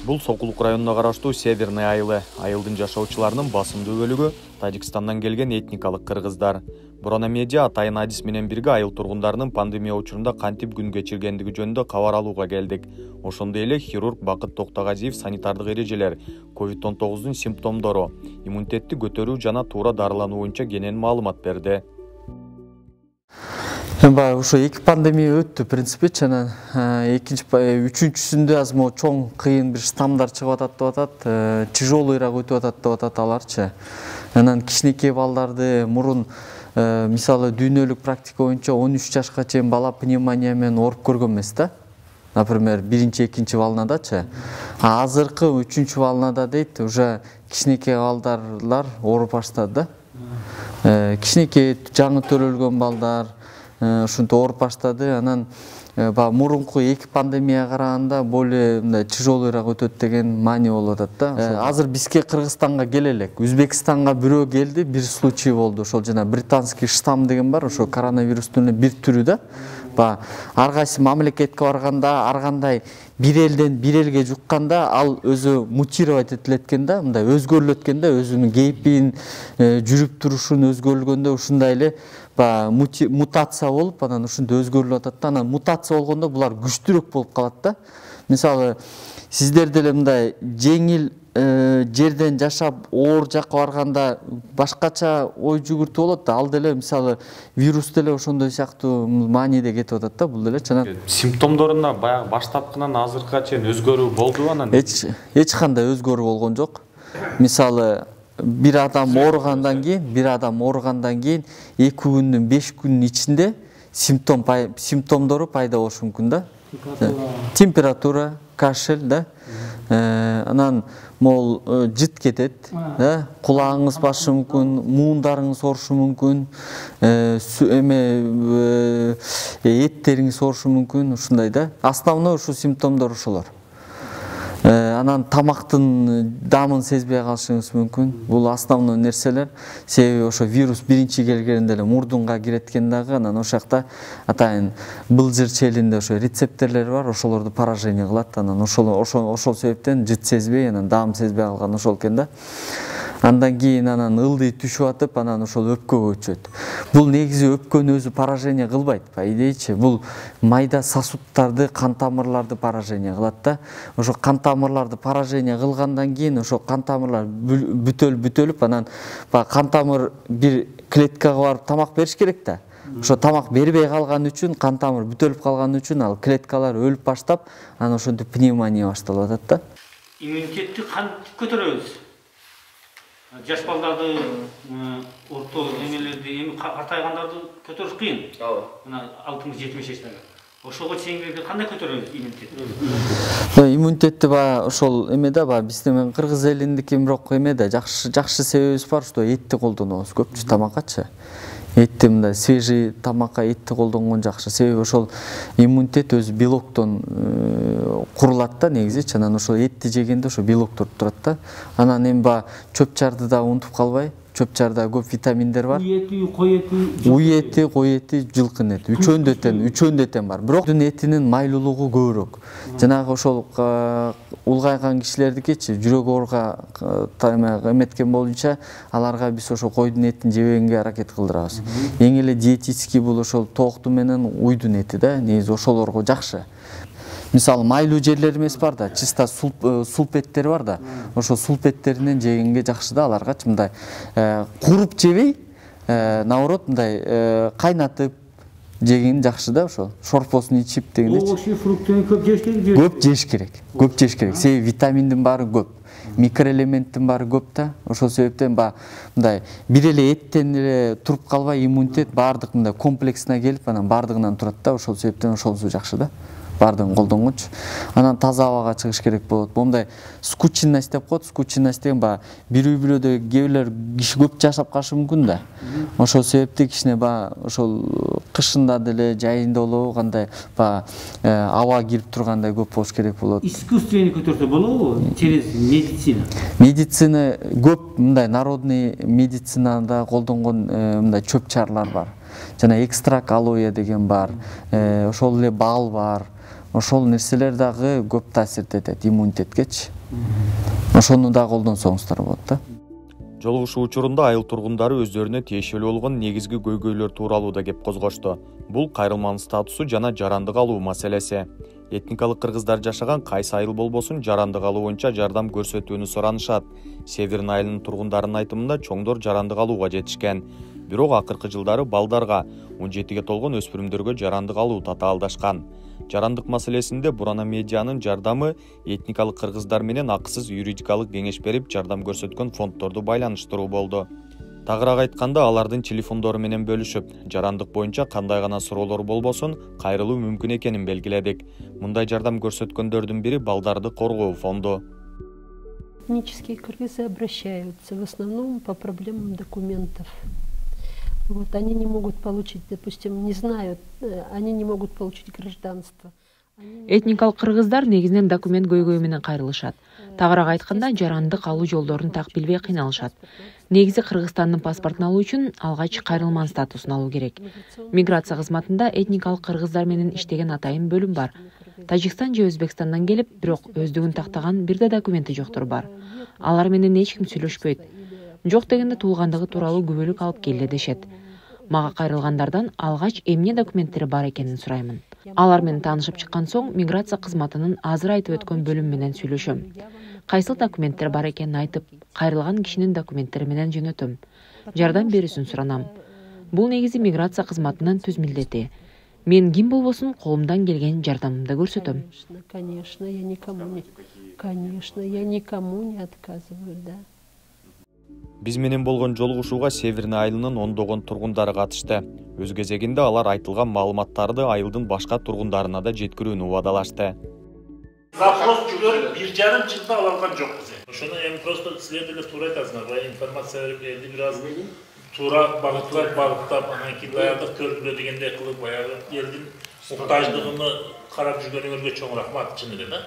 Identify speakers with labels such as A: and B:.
A: Бул Сокулук районуна караштуу Северный айылы. Айылдын жашоочуларынын басымдуу бөлүгү Тажикстандан келген этникалык кыргыздар. Бурана медиа Атайын Адис менен бирге айыл тургундарынын пандемия учурунда кантип күн кечиргендиги жөнүндө кабар алууга келдик. Ошондой эле хирург Бакыт Токтогазиев санитардык эрежелер, COVID-19 симптомдору, иммунитетти көтөрүү жана туура дарылануу боюнча кенен маалымат берди.
B: Ошо эки пандемия өттү, в принципе, жана үчүнчүсүндө аз мо чоң кыйын бир штаммдар чыгып атат деп атат, тяжелыйраак өтүп атат деп атат аларчы. Анан кичинекей балдарды мурун мисалы дүйнөлүк практика боюнча 13 жашка чейин бала пневмония менен ооруп көргөн эмес да. Например, биринчи, экинчи волнадачы. Азыркы үчүнчү волнада дейт, уже кичинекей балдарлар ооруп баштады да. Кичинекей жаңы төрөлгөн балдар ушинтип ооруп баштады. Анан мурунку эки пандемияга караганда более мындай тяжелыйраак өтөт деген маани болуп атат да. Азыр бизге Кыргызстанга келе элек. Өзбекстанга бирөө келди, бир случай болду. Ошол жана британский штамм деген бар, ошо коронавирустун бир түрү да. Ар кайсы мамлекетке барганда, ар кандай бир элден бир элге жукканда, ал өзү мутировать этилет экен да, мындай өзгөрүлөт экен да, өзүнүн кейпин, жүрүп турушун өзгөрүлгөндө ушундай эле мутация болуп, анан ушундай өзгөрүлүп атат да. Анан мутация болгондо булар күчтүүрөөк болуп калат да. Мисалы, сиздер деле мындай жеңил жерден жашап оор жакка барганда башкача ой жүгүртүү болот да. Ал деле мисалы вирус деле ошондой сыяктуу мааниде кетип атат да, бул деле жана
A: симптомдорунда баягы баштапкынан азыркыга чейин өзгөрүү болдубу анан?
B: Эч кандай өзгөрүү болгон жок. Мисалы бир адам ооругандан кийин 2 күндүн 5 күнүнүн ичинде симптомдору пайда болушу мүмкүн да. Температура, кашель да. Анан могул жыт кетет, да, кулагыңыз басышы мүмкүн, муундарыңыз оорушу мүмкүн, эттериңиз оорушу мүмкүн, ушундай да. Основной ушул симптомдор ошолор. Анан тамактын дамын сезбей калышыңыз мүмкүн. Бул основной нерселер. Себеби ошо вирус биринчи келгенде эле мурдунга кирет экен дагы, анан ошол жакта атайын былжыр челинде ошо рецепторлор бар, ошолорду поражение кылат. Анан ошол себептен жыт сезбей, анан дам сезбей калган ошол экен да. Андан кийин ылдый түшүп атып, анан ошол өпкөгө өтүшөт. Бул негизи өпкөнү өзү поражение кылбайт, по идеечи. Бул майда сосудтарды, кан тамырларды поражение кылат да. Ошо кан тамырларды поражение кылгандан кийин ошо кан тамырлар бүтөлүп, анан кан тамыр бир клеткага барып тамак бериш керек да. Ошо тамак бербей калган үчүн, кан тамыр бүтөлүп калган үчүн ал клеткалар өлүп баштап, анан ошентип пневмония башталып атат да.
C: Иммунитетти кантип көтөрөбүз? Жаш балдарды, орто эмелерди, эми картайгандарды көтөрүш кыйын. Мына 60-70 жаштагы. Ошого чейингилерди кандай көтөрөбүз иммунитетти?
B: Иммунитетти ошол эмеде биздин кыргыз элиндики бирок эмеде жакшы себебибиз бар, что этти колдонобуз көпчү тамаккачы. Этти мындай свежий тамакка этти колдонгон жакшы. Себеби ошол иммунитет өзү белоктон курулат да негизи. Анан ошол этти жегенде ошо белоктор турат да. Анан эми чөп чарды да унутуп калбай. Чөп чарда көп витаминдер бар. Уй эти, жылкын эти. Үчөөндө этен бар. Бирок этинин майлуулугу көбүрөөк. Жанагы ошол улгайган кишилердикичи жүрөк ооруга эметкен боюнча аларга биз ошо койдун этин жебегенге аракет кылдырабыз. Эң эле диетический бул ошол тооктун менен уйдун эти да. Негизи ошолорго жакшы. Мисалы майлуу жерлер эмес бар да, чисто сулп эттер бар да. Ошо сулп эттеринен жегенге жакшы да аларга. Мындай куруп жебей, наоборот мындай кайнатып жеген жакшы да ошо. Шорпосун ичип дегендечи.
C: Овощи, фруктты көп жеш керек.
B: Көп жеш керек. Себеби витаминдин баары көп. Микроэлементтин баары көп да. Ошол себептен мындай бир эле эттен эле туруп калбай иммунитет баардык мындай комплексине келип, анан баардыгынан турат да. Ошол себептен ошонусу жакшы да. Бардыгын колдонгончу. Анан таза абага чыгыш керек болот. Мондай скученность деп коет. Скученность деген бир үй бүлөдө кээ киши көп жашап калышы мүмкүн да. Ошол себепти кичине ошол кышында деле, жайында болобу кандай аба кирип тургандай көп болуш керек болот.
C: Искусственный көтөрсө болобу через медицина?
B: Медицина көп мындай народный медицинада колдонгон мындай чөп чарлар бар. Жана экстракт алоэ деген бар. Ошол эле бал бар. ошол нерселер дагы көп таасирт этет иммунитеткечи. Ошону да колдонсоңуздар болот да.
A: Жолугушуу учурунда айыл тургундары өздөрүнө тиешелүү болгон негизги көйгөйлөр тууралуу да кеп козгошту. Бул кайрылманын статусу жана жарандык алуу маселеси. Этникалык кыргыздар жашаган кайсы айыл болбосун жарандык алуу боюнча жардам көрсөтүүнү суранышат. Северный айылынын тургундарынын айтымында чоңдор жарандык алууга жетишкен. Бирок акыркы жылдары балдарга, 17-ге толгон өспүрүмдөргө жарандык алуу татаалдашкан. Жарандык маселесинде Бурана медианын жардамы этникалык кыргыздар менен акысыз юридикалык кеңеш берип жардам көрсөткөн фонддорду байланыштыруу болду. Тагыраак айтканда, алардын телефондору менен бөлүшүп, жарандык боюнча кандай гана суроолор болбосун кайрылуу мүмкүн экенин белгиледик. Мындай жардам көрсөткөндөрдүн бири Балдарды коргоо фонду.
D: Этнические кыргызы обращаются в основном по проблемам документов. Вот, они не могут получить, допустим, не знают, они не могут получить гражданство.
E: Этникалык кыргыздар негизинен документ көйгөйү менен кайрылышат. Тагыраак айтканда, жарандык алуу жолдорун так билбей кыйналышат. Негизи Кыргызстандын паспортун алуу үчүн алгач кайрылман статусун алуу керек. Миграция кызматында этникалык кыргыздар менен иштеген атайын бөлүм бар. Тажикстан же Өзбекстандан келип, бирок өздүгүн тактаган бир да документи жоктор бар. Алар менен эч ким сүйлөшпөйт. Жок дегенде туулгандыгы тууралуу күбөлүк алып келе дешет. Мага кайрылгандардан алгач эмне документтери бар экенин сураймын. Алар менен таанышып чыккан соң миграция кызматынын азыр айтып өткөн бөлүм менен сүйлөшөм. Кайсыл документтер бар экенин айтып, кайрылган кишинин документтери менен жөнөтөм. Жардам берүүсүн суранам. Бул негизи миграция кызматынын түз милдети. Мен ким болбосун колумдан келген жардамымды көрсөтөм.
D: Конечно, я никому не отказываю, да.
A: Биз менен болгон жолугушууга Северный айылынын ондогон тургундары катышты. Өз кезегинде алар айтылган маалыматтарды айылдын башка тургундарына да жеткирүүнү убадалашты.
F: Запрос жүрөп 1,5 жылда алган жокпуз. Ошону эми просто силер деле туура айтасыңар. Баягы информация берип элди бир аз туура багыттап, анан кийин даярдык көргүлө дегендей кылып, баягы элдин муктаждыгын карап жүргөнүңөргө чоң рахмат чын эле да.